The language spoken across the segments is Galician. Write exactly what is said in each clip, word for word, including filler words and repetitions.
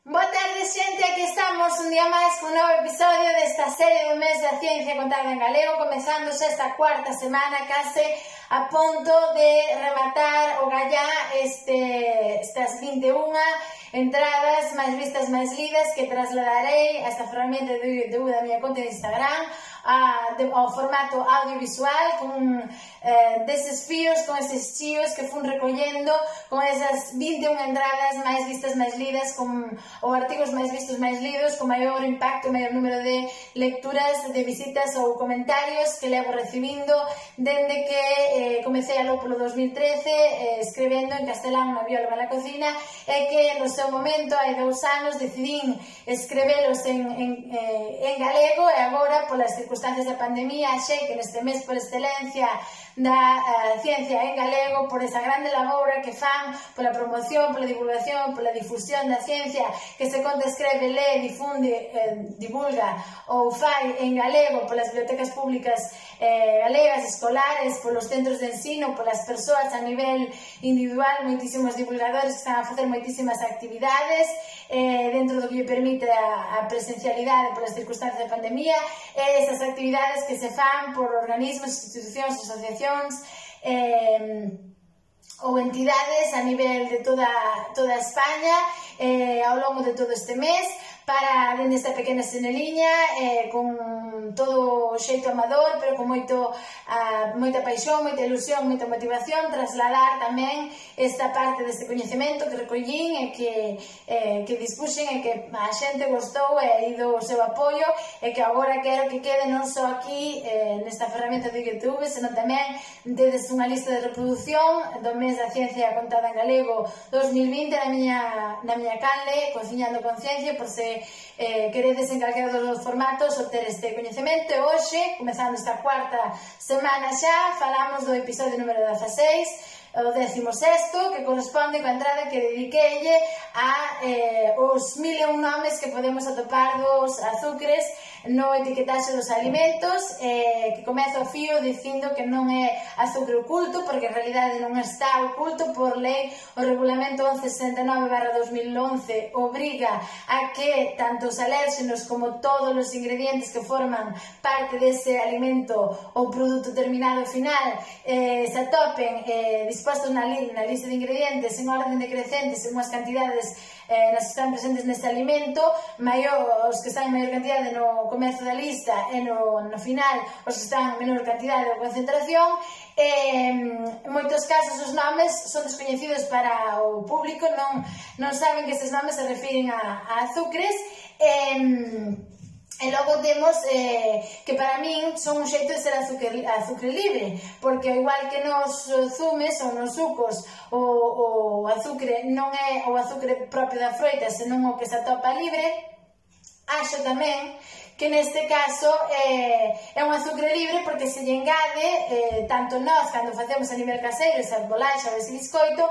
Boa tarde, xente, aquí estamos un día máis con un novo episodio desta serie do mes da ciencia contada en galego, comezando xa esta cuarta semana, case a punto de rematar o gallá este, estas vinte e unha entradas máis vistas, máis lidas, que trasladarei a esta ferramenta de YouTube da miña conta de Instagram, a, de, ao formato audiovisual, con eh, deses fíos, con eses chíos que fun recollendo, con esas vinte e unha entradas máis vistas, máis lidas, con, ou artigos máis vistos, máis lidos, con maior impacto, maior número de lecturas, de visitas ou comentarios que levo recibindo dende que eh, comecei aló polo dos mil trece eh, escrevendo en castelán na bióloga na cocina, e que no seu momento, hai dous anos, decidín escrevelos en, en, eh, en galego, e agora, polas circunstancias da pandemia, achei que neste mes por excelencia da uh, ciencia en galego, por esa grande labora que fan pola promoción, pola divulgación, pola difusión da ciencia, que se conta, escreve, lee, difunde, eh, divulga ou fai en galego polas bibliotecas públicas eh, galegas, escolares, polos centros de ensino, polas persoas a nivel individual, moitísimos divulgadores que están a facer moitísimas actividades eh, dentro do que lle permite a, a presencialidade polas circunstancias da pandemia, e esas actividades que se fan por organismos, institucións, asociacións eh, ou entidades a nivel de toda, toda España eh, ao longo de todo este mes, para, dende esta pequena seneliña, eh, con todo o xeito amador, pero con moito, uh, moita paixón, moita ilusión, moita motivación, trasladar tamén esta parte deste coñecemento que recollín e que, eh, que dispuxen, e que a xente gostou e ido o seu apoio, e que agora quero que quede non só aquí eh, nesta ferramenta de YouTube, senón tamén tedes unha lista de reproducción do mes da ciencia contada en galego dos mil vinte na miña, na miña canle, Cociñando con Ciencia, por se eh, queredes en calquera dos formatos obter este coñecemento. E hoxe, comezando esta cuarta semana xa, falamos do episodio número dezaseis, o décimo sexto, que corresponde coa entrada que dediqueille a eh, os mil e un nomes que podemos atopar dos azúcares no etiquetaxe dos alimentos, eh, que comeza o fío dicindo que non é azúcar oculto, porque en realidade non está oculto por lei. O regulamento once sesenta e nove barra dos mil once obriga a que tanto os alérxenos como todos os ingredientes que forman parte dese alimento ou produto terminado final eh, se atopen eh, dispostos na, li na lista de ingredientes en orden decrecente, según as cantidades eh, nas que están presentes neste alimento, maior, os que están en maior cantidade no comezo da lista e no, no final os que están en menor cantidade ou concentración. Eh, en moitos casos os nomes son descoñecidos para o público, non, non saben que estes nomes se refiren a, a azúcares. eh, E logo temos eh, que para min son un xeito de ser azúcar, azúcar libre, porque igual que nos zumes ou nos sucos o, o azúcar non é o azúcar propio da froita, senón o que se atopa libre, acho tamén que neste caso eh, é un azúcar libre porque se lle engade eh, tanto nós, cando facemos a nivel caseiro esa bolacha ou ese biscoito,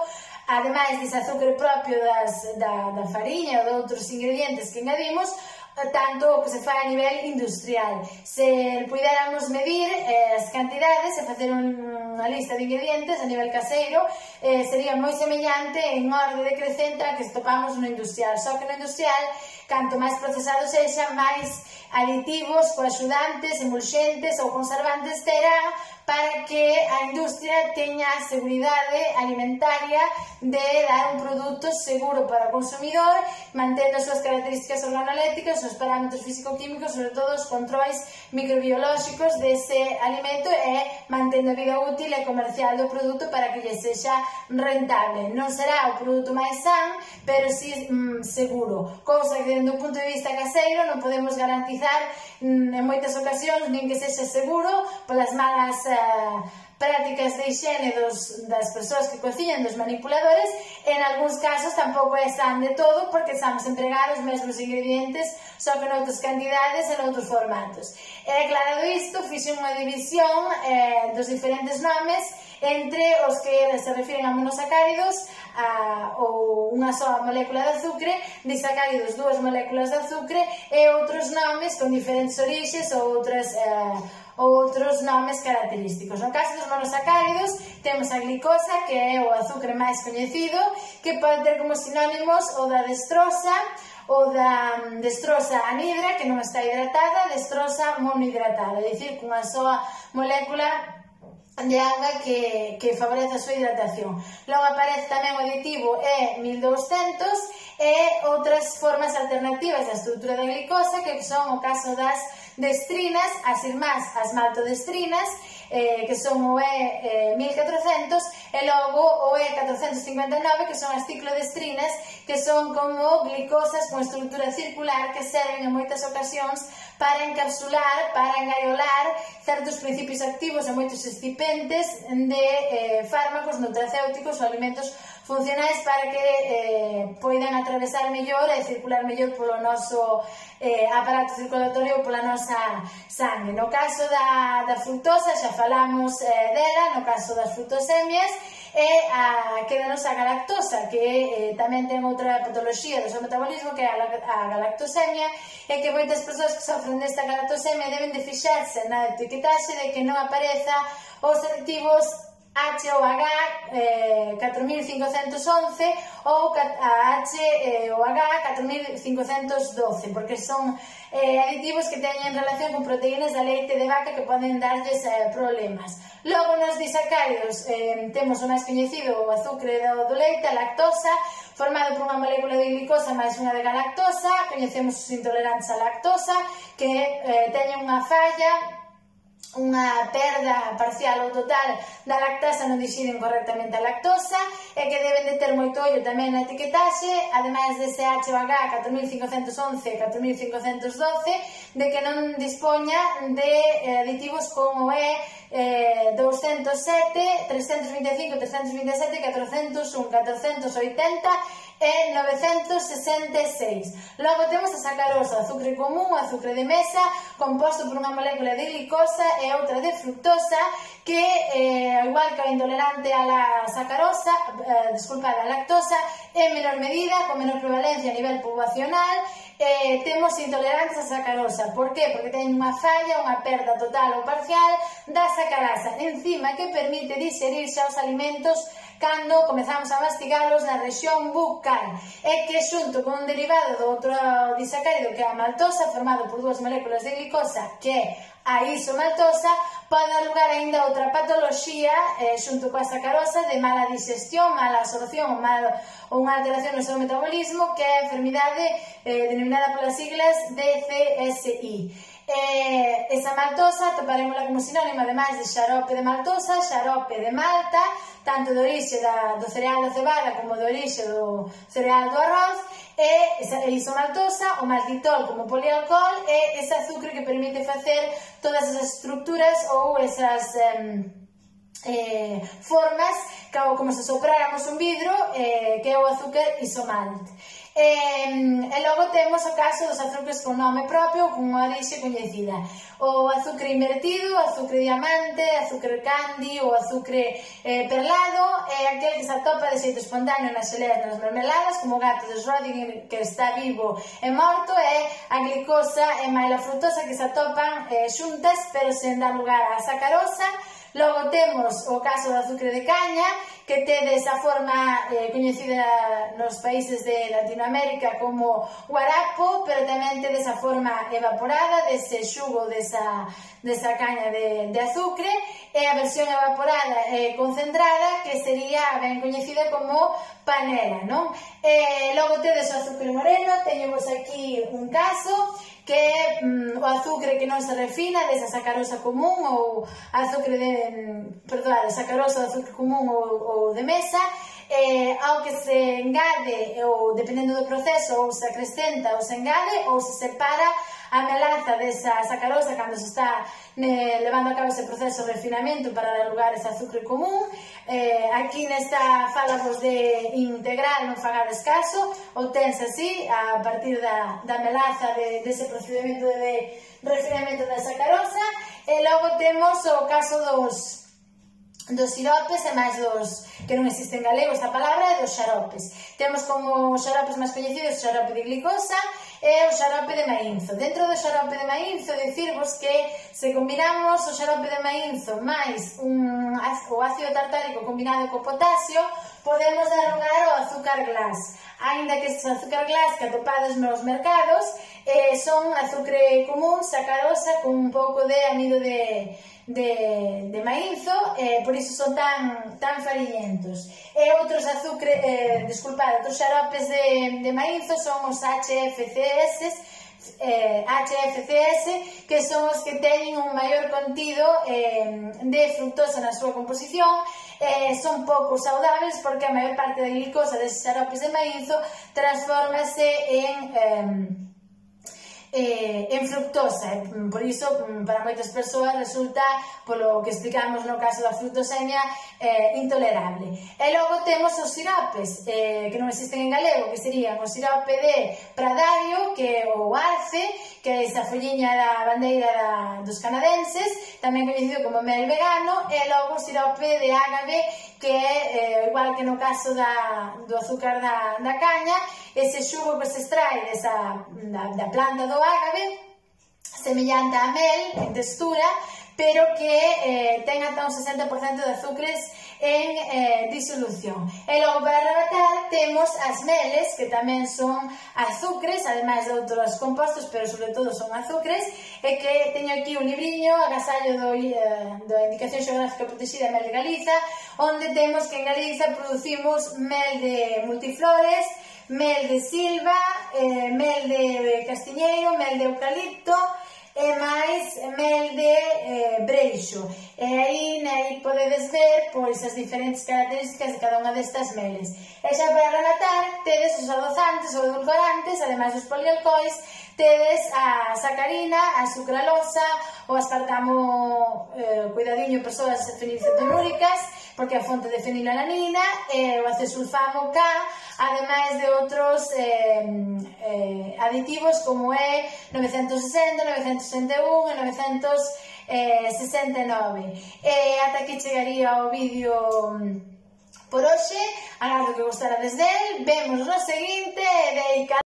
ademais dese azúcar propio das, da, da fariña ou de outros ingredientes que engadimos, tanto o que se fai a nivel industrial. Se puidéramos medir eh, as cantidades e facer un, unha lista de ingredientes a nivel caseiro, eh, sería moi semellante en orde decrecente a que topamos no industrial, só que no industrial, canto máis procesado sexa, máis aditivos, coaxudantes, emulxentes ou conservantes terá, para que a industria teña a seguridade alimentaria de dar un produto seguro para o consumidor, mantendo as súas características organoléctricas, os parámetros físico-químicos, sobre todo os controis microbiolóxicos dese alimento, e mantendo a vida útil e comercial do produto para que lle sexa rentable. Non será o produto máis san, pero si mm, seguro, cousa que dende o punto de vista caseiro non podemos garantizar mm, en moitas ocasións, nin que sexa seguro polas malas prácticas de higiene dos, das persoas que cociñan, dos manipuladores. En algúns casos tampouco é san de todo, porque estamos a empregar os mesmos ingredientes, só que noutras cantidades e noutros formatos. E aclarado isto, fixe unha división eh, dos diferentes nomes entre os que se refiren a monosacáridos, a, ou unha soa molécula de azúcar, disacáridos, dúas moléculas de azúcar, e outros nomes con diferentes orixes ou outras eh, outros nomes característicos. No caso dos monosacáridos temos a glicosa, que é o azúcar máis coñecido, que pode ter como sinónimos o da dextrosa, o da dextrosa anhidra, que non está hidratada, dextrosa monohidratada, é dicir, cunha soa molécula de auga que, que favorece a súa hidratación. Logo aparece tamén o aditivo E mil douscentos e outras formas alternativas da estrutura da glicosa, que son o caso das destrinas, as irmás as maltodestrinas, eh, que son o E mil catrocentos, e logo o E catrocentos cincuenta e nove, que son as ciclodestrinas, que son como glicosas con estrutura circular que serven en moitas ocasións para encapsular, para engaiolar certos principios activos e moitos excipentes de eh, fármacos nutracéuticos ou alimentos funcionais para que eh, poidan atravesar mellor e circular mellor polo noso eh, aparato circulatorio ou pola nosa sangue. No caso da, da fructosa xa falamos eh, dela, no caso das fructosemias, e a, quedanos a galactosa, que eh, tamén ten outra patoloxía do seu metabolismo, que é a, a galactosemia, e que moitas persoas que sofren desta galactosemia deben de fixarse na etiquetaxe de que non apareza os aditivos H ou H eh, catro mil cincocentos once ou a H eh, ou H catro mil cincocentos doce, porque son eh, aditivos que teñen relación con proteínas da leite de vaca que poden darlles eh, problemas. Logo nos disacáridos eh, temos o máis coñecido o azúcar do, do leite, a lactosa, formado por unha molécula de glicosa máis unha de galactosa. Coñecemos os intolerantes á lactosa, que eh, teñen unha falla, unha perda parcial ou total da lactasa, non dixiden correctamente a lactosa, e que deben de ter moito ollo tamén na etiquetaxe, ademais dese H ou H catro mil cincocentos once e catro mil cincocentos doce, de que non dispoña de aditivos como é eh, doscientos sete, trescientos veinticinco, trescientos veintisiete, catrocentos un, catrocentos oitenta e novecentos sesenta e seis. Logo temos a sacarosa, azúcar común, azúcar de mesa, composto por unha molécula de glicosa e outra de fructosa, que, eh, ao igual que o intolerante a la sacarosa, eh, disculpa, a lactosa, en menor medida, con menor prevalencia a nivel poblacional, eh, temos intolerantes a sacarosa. Por que? Porque teñen unha falla, unha perda total ou parcial da sacarasa, enzima que permite digerirse aos alimentos cando comezamos a mastigalos na rexión bucal, e que xunto con un derivado do outro disacárido, que é a maltosa, formado por dúas moléculas de glicosa, que é a isomaltosa, pode dar lugar ainda a outra patoloxía eh, xunto coa sacarosa de mala digestión, mala absorción ou, mal, ou unha alteración no seu metabolismo, que é a enfermidade eh, denominada polas siglas D C S I. Eh, esa maltosa atoparémola como sinónimo, ademais de xarope de maltosa, xarope de malta, tanto de orixe da, do cereal da cebada como de orixe do cereal do arroz, e esa isomaltosa, o maltitol como polialcohol, e ese azúcar que permite facer todas esas estructuras ou esas eh, eh, formas como se sopráramos un vidro, eh, que é o azúcar isomalt. E, e logo temos o caso dos azúcares con nome propio, con unha orixe coñecida: o azúcar invertido, o azúcar diamante, azúcar candy, o azúcar eh, perlado, é aquel que se atopa de xeito espontáneo nas xeleas, nas mermeladas, como o gato de Schrödinger que está vivo e morto, e a glicosa e máis a fructosa que se atopan eh, xuntas, pero sen dar lugar á sacarosa. Logo temos o caso do azúcar de caña, que tede esa forma eh, coñecida nos países de Latinoamérica como guarapo, pero tamén tede esa forma evaporada dese xugo desa, desa caña de, de azúcar, e a versión evaporada e concentrada, que sería ben coñecida como panela, non? E logo tedes o azúcar moreno, teñemos aquí un caso, que é mm, o azúcar que non se refina desa sacarosa común ou azúcar de, perdón, sacarosa do azúcar común ou, ou de mesa, eh, ao que se engade, ou dependendo do proceso, ou se acrescenta ou se engade, ou se separa a melaza desa sacarosa cando se está ne, levando a cabo ese proceso de refinamento para dar lugar a ese azúcar común. Eh, aquí nesta falamos de integral, non fagades caso, ou tense así, a partir da, da melaza de, dese procedimento de refinamento da sacarosa. E logo temos o caso dos dos siropes e máis dos, que non existe en galego esta palabra, dos xaropes. Temos como xaropes máis coñecidos o xarope de glicosa e o xarope de maínzo. Dentro do xarope de maínzo, dicirvos que se combinamos o xarope de maínzo máis un, o ácido tartárico combinado co potasio, podemos dar lugar ao azúcar glass, aínda que estes azúcar glass que atopados nos mercados eh, son azúcar común, sacarosa, con un pouco de amido de, de, de maízo, eh, por iso son tan, tan fariñentos. E outros azúcar, eh, disculpad, outros xaropes de, de maízo son os H F C S, eh, H F C S, que son os que teñen un maior contido eh, de fructosa na súa composición. Eh, son pouco saudables porque a maior parte da glicosa deses xaropes de maízo transformase en eh, Eh, en fructosa, por iso para moitas persoas resulta, polo que explicamos no caso da fructosemia, eh, intolerable. E logo temos os siropes, eh, que non existen en galego, que serían o sirope de pradario, que é o arce, que é esa folliña da bandeira da, dos canadenses, tamén coñecido como mel vegano, e logo o sirope de ágave, que é, eh, igual que no caso da, do azúcar da, da caña, ese xugo que se extrae desa, da, da planta do ágave, semellante á mel en textura, pero que eh, ten ata un sesenta por cento de azúcares en eh, disolución. E logo para rematar temos as meles, que tamén son azúcares, ademais de outros compostos, pero sobre todo son azúcares, e que teño aquí un libriño, agasallo do, eh, do Indicación Xeográfica Protexida Mel de Galiza, onde temos que en Galiza producimos mel de multiflores, mel de silva, eh, mel de castiñeiro, mel de eucalipto e máis mel de eh, breixo. E aí, aí podedes ver pois, as diferentes características de cada unha destas meles. E xa para rematar, tedes os adozantes ou edulcorantes, ademais dos polialcohois, tedes a sacarina, a sucralosa, o aspartamo, eh, cuidadiño, persoas fenilcetonúricas, porque é a fonte de fenilalanina, e o acesulfamo K, ademais de outros eh, eh, aditivos como é novecentos sesenta, novecentos sesenta e un e novecentos sesenta e nove. E ata aquí chegaría o vídeo por hoxe, agardo que gostarades del, vemos no seguinte, e